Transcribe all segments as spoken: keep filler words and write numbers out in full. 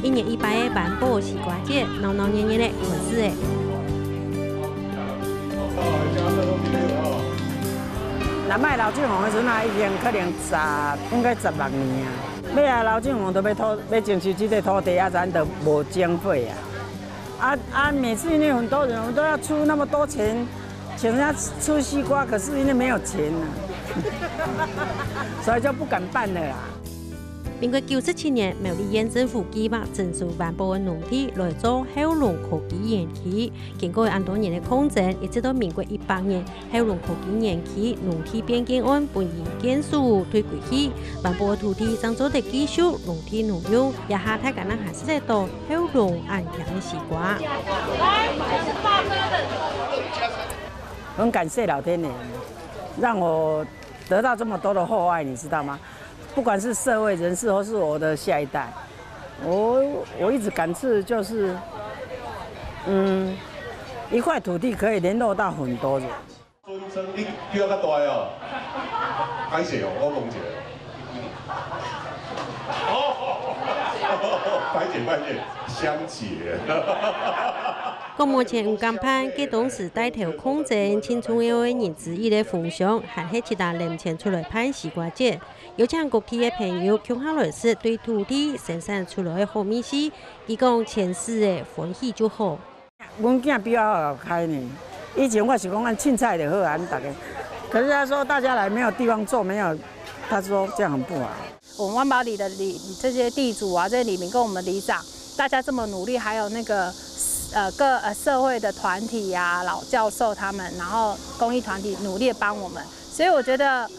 一年一擺个萬寶西瓜節，鬧鬧熱熱个開始咧。若賣劉俊宏个時陣啊，已經可能十，應該十六年啊。尾仔劉俊宏都欲討，欲徵收這塊土地啊，咱都無經費啊。啊啊，每次因為很多人，我們都要出那麼多錢，請人家吃西瓜，可是因為沒有錢啊，所以就不敢辦了啦。 民國九十七年，苗栗縣政府計畫徵收萬寶个農地來做後龍科技園區。經過恁多年个抗爭，一直到民國一百年，後龍科技園區農地變更案分營建署退歸去，萬寶个土地正做得繼續農地農用，這下大家正還食得到後龍恁香个西瓜。很感謝老天爺，讓我得到這麼多的厚愛，你知道嗎？不管是社會人士，或是我的下一代，我我一直感謝，就是，嗯，一塊土地可以聯絡到很多人。尊稱你比我較大哦，歹勢哦，我講一下。歹勢歹勢，香姐。國民黨毋甘辦，該當時帶頭抗爭盡重要个人之一个洪昌，還係自家揇錢出來辦西瓜節。 邀請各地个朋友共下來食對土地生產出來个好味緒，佢講全市个歡喜就好。阮囝比我較好開呢，以前我是講按凊彩就好啊，大家。可是他說大家來沒有地方做，沒有，他說這樣很不好。我們萬寶里的里，這些地主啊，這些里民跟我們里長，大家這麼努力，還有那個，呃，各，呃，社會的團體啊，老教授他們，然後公益團體努力地幫我們，所以我覺得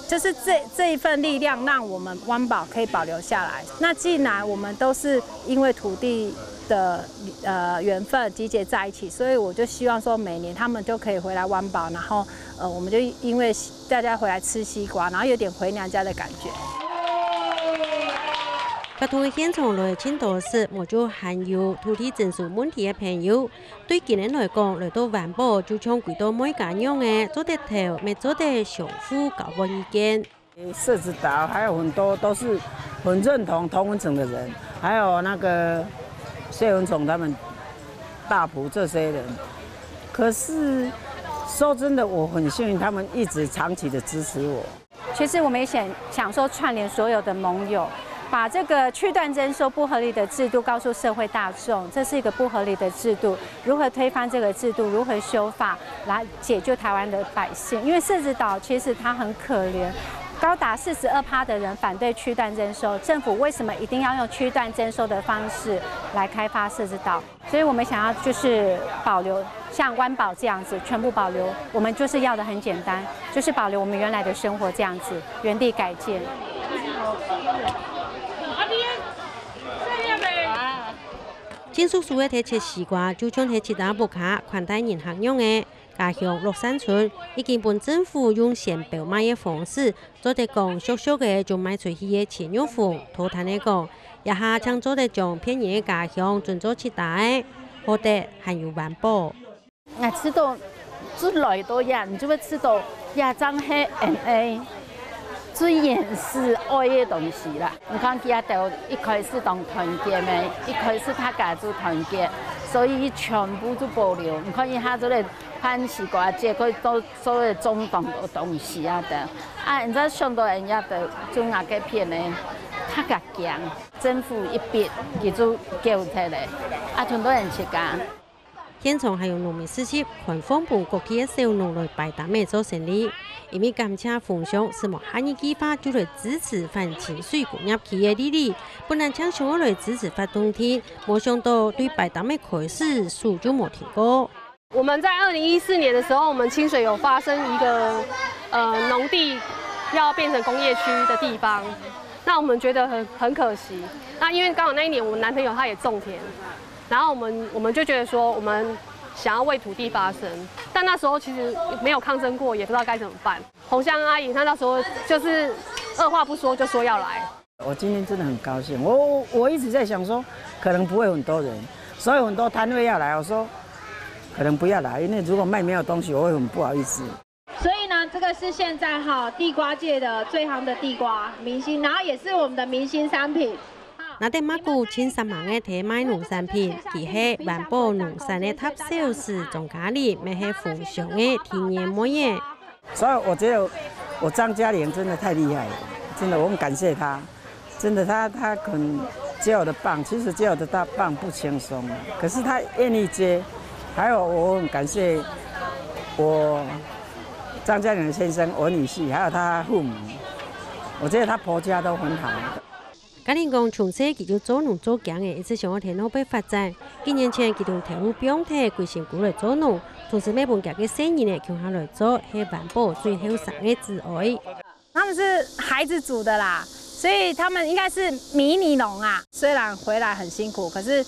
就是這，這一份力量讓我們萬寶可以保留下來。那既然我們都是因為土地的，呃，緣分集結在一起，所以我就希望說每年他們就可以回來萬寶，然後，呃，我們就因為大家回來吃西瓜，然後有點回娘家的感覺。活動个現場來盡多係，無就還有土地徵收問題个朋友， 對佢等來講，來到萬寶就像歸到妹家樣仔，做得投，乜做得相互交換意見。社子島還有很多都是很認同同溫層的人，還有那個謝文崇他們大埔這些人。可是說真的，我很幸運，他們一直長期的支持我。 其實我們也想，想說串聯所有的盟友，把這個區段徵收不合理的制度告訴社會大眾，這是一個不合理的制度，如何推翻這個制度，如何修法來解救台灣的百姓？因為社子島其實它很可憐，高達四十二趴的人反對區段徵收，政府為什麼一定要用區段徵收的方式來開發社子島？ 所以我們想要就是保留像萬寶這樣子，全部保留。我們就是要的很簡單，就是保留我們原來的生活這樣子，原地改建。盡熟手个切西瓜，就像係自家屋下款待人客樣仔。 家鄉樂善村已經分政府用先標賣个方式，做得講俗俗个就賣出去个錢肉紅。土壇仔講，這下正做得將別人个家鄉轉做自家个，好得還有環保。𠊎試著，就來到這，你就會試著，這正係𠊎等个最原始愛个東西啦。你看佢兜一開始當團結咩，一開始大家就團結，所以全部就保留。你看一下這個 番西瓜節，佢都所有種當多東西啊等。啊，你知想到人家的種啊該片呢，大家驚，政府一逼，佢就救出來，啊，全部人自家。現場還有農民市集，開放分各地个小農來擺攤仔做生理。因為感謝紅鄉，斯莫哈尼計畫就來支持反清水工業區个利利，本來淨想愛來支持發動地，無想到對擺攤仔開始，手就無停過。 我們在二零一四年的時候，我們清水有發生一個，呃，農地要變成工業區的地方，那我們覺得很，很可惜。那因為剛好那一年我男朋友他也種田，然後我們，我們就覺得說我們想要為土地發聲，但那時候其實沒有抗爭過，也不知道該怎麼辦。紅香阿姨她那時候就是二話不說就說要來。 我今天真的很高興，我，我一直在想說，可能不會很多人，所以很多攤位要來，我說可能不要來，因為如果賣沒有東西，我會很不好意思。所以呢，這個是現在哈地瓜界的最夯的地瓜明星，然後也是我們的明星商品。 拿等麥穀，盡煞猛个在賣農產品，佢係環保農產个大銷售張嘉玲，乜係豐香个天然妹仔。所以我覺得我張嘉玲真的太厲害了，真的我很感謝她，真的她她肯接我的棒，其實接我的大棒不輕鬆啊，可是她願意接，還有我很感謝我張嘉玲的先生、我女婿，還有她父母，我覺得她婆家都很好。 嘉玲講，從細佢就做農做驚个，一直想愛在外背發展。幾年前，佢同頭路放忒，歸身軀來做農，同時乜分佢个細人仔共下來做，係環保最後生个子哀。他們是孩子組的啦，所以他們應該是迷你農啊。雖然回來很辛苦，可是，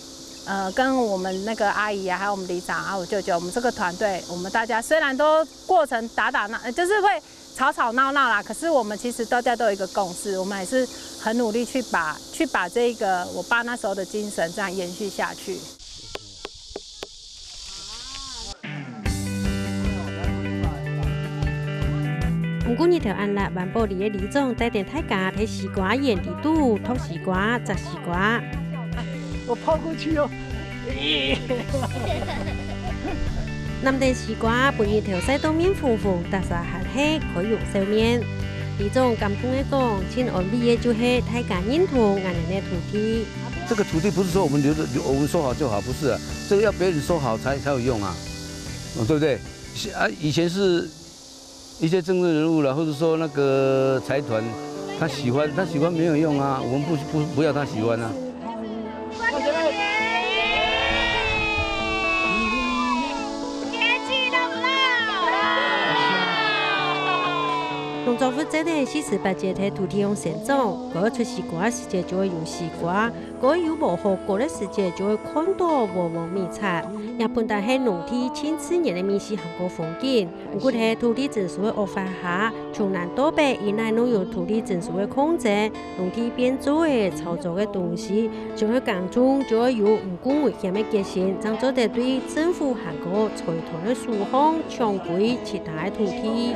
呃，跟我們那個阿姨啊，還有我們里長啊，我舅舅，我們這個團隊，我們大家雖然都過程打打鬧，呃，就是會 吵吵鬧鬧啦，可是我們其實大家都有一個共識，我們還是很努力去把，去把這個我爸那時候的精神這樣延續下去。毋過日頭恁烈，環保里个里長帶等大家在西瓜園裡肚擇西瓜、摘西瓜。我跑過去哦。 南等西瓜，分日頭曬到面紅紅，逐儕還係開容笑面。里長感動个講，盡安慰个就係大家認同𠊎等个土地。這個土地不是說我們留著，我們收好就好，不是啊，這個要別人收好才，才有用啊，哦，對不對？啊，以前是 一些政治人物啦，或者說那個財團，他喜歡，他喜歡沒有用啊，我們不，不，不要他喜歡啊。農作物真个四十八節在土地上生長，該出西瓜个時節就會有西瓜， 該有無好割个時節，就會看到黃黃米冊，也本來係農地盡自然个味緒還過風景。毋過在土地徵收个惡法下，從南到北，一來攏有土地徵收个抗爭，農地變做个炒作个東西，想愛耕種就愛有毋過危險个決心，正做得對政府還過財團个手項搶回其他个土地。